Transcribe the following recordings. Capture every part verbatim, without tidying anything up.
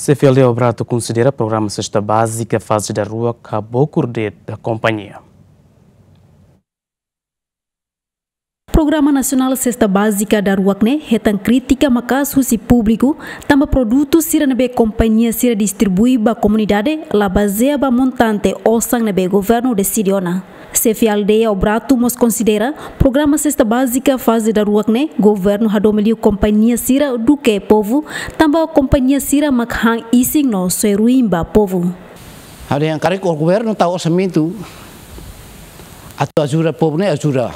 Xefe aldeia Obrato konsidera programa sesta bázika faze daruak habokur de'it ba kompañia. Programa Nasionál Sesta Bázika daruak ne'e hetan krítika maka'as husi públiku, tanba produtu sira ne'ebé kompañia sira distribui ba komunidade la bazeia ba montante osan ne'ebé governu deside ona. Xefe aldeia Obrato mós konsidera programa sesta bázika faze daruak ne'e governu hadomi liu kompañia sira duké povu, tanba kompañia sira mak han isin no soe ruin ba povu. Ha'u dehan karik governu tau orsamentu atu ajuda povu ne'e ajuda.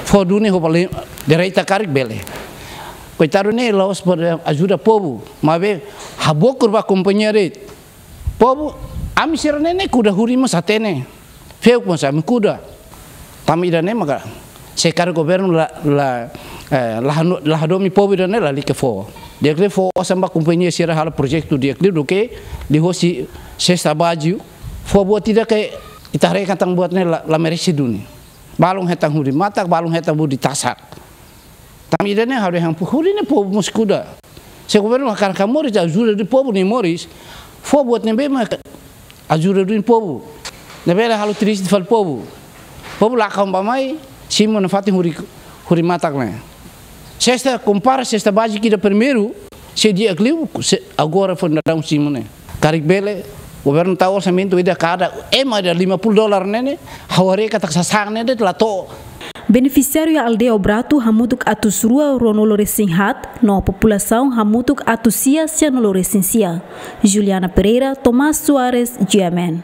Fó duni ho bali direta karik bele. Koitadu ne'e la'ós para ajuda povu, maibé habokur ba kompañia de'it. Povu, ami sira ne'e, ne'e kuda huri mós hatene. Feuk mós ami kuda. Tanba ida-ne'e maka se karik governu la, la, eh, la hanu-, la hadomi povu ida-ne'e lalika fó. Di'ak liu fó osan ba kompañia sira halo projetu di'ak liu duké liuhosi sesta bázika. Fó buat ida ke ita haree katak buat ne'e la, la merese duni. Balun hetan huri matak, balun hetan huri tasak. Tanba ida-ne'e ha'u dehan huri ne'e povu mós kuda. Se governu hakarak moris ajuda duni povu nia moris, fó buat ne'ebé mak ajuda duni povu. Ne'ebé la halo triste fali povu. Povu lakon bá-mai, simu nafatin huri, huri matak ne'e. Sesta kompara sesta bázika ida primeiru, sei di'ak liu, se agora foin daudaun simu ne'e. Karik bele, governu tau orsamentu ida kada, ema ida lima puluh dolar ne'e ne'e, ha'u haree katak sasán ne'e de'it la to'o. Benefisiáriu iha aldeia Obrato hamutuk atus rua ruanulu resin haat, no populasaun hamutuk atus sia sianulu resin sia. Juliana Pereira, Tomás Soares, G M N.